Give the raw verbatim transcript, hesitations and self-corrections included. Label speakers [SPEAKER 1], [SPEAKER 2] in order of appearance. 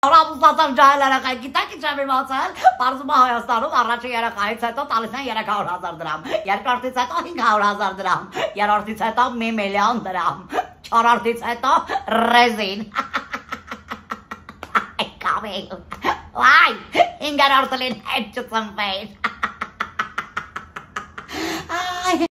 [SPEAKER 1] Ռամուսացան ջահել երեխային, գիտեք ինչ եմ իմացել, պարզում է Հայաստանում առաջին երեխայից հետո տալիս են երեք հարյուր հազար դրամ, երկրորդից հետո հինգ հարյուր հազար դրամ, երրորդից հետո մի միլիոն դրամ, չորրորդից հետո ռեզին։ Կամիլ, վայ, հինգերորդը լին հետ չծնվեին։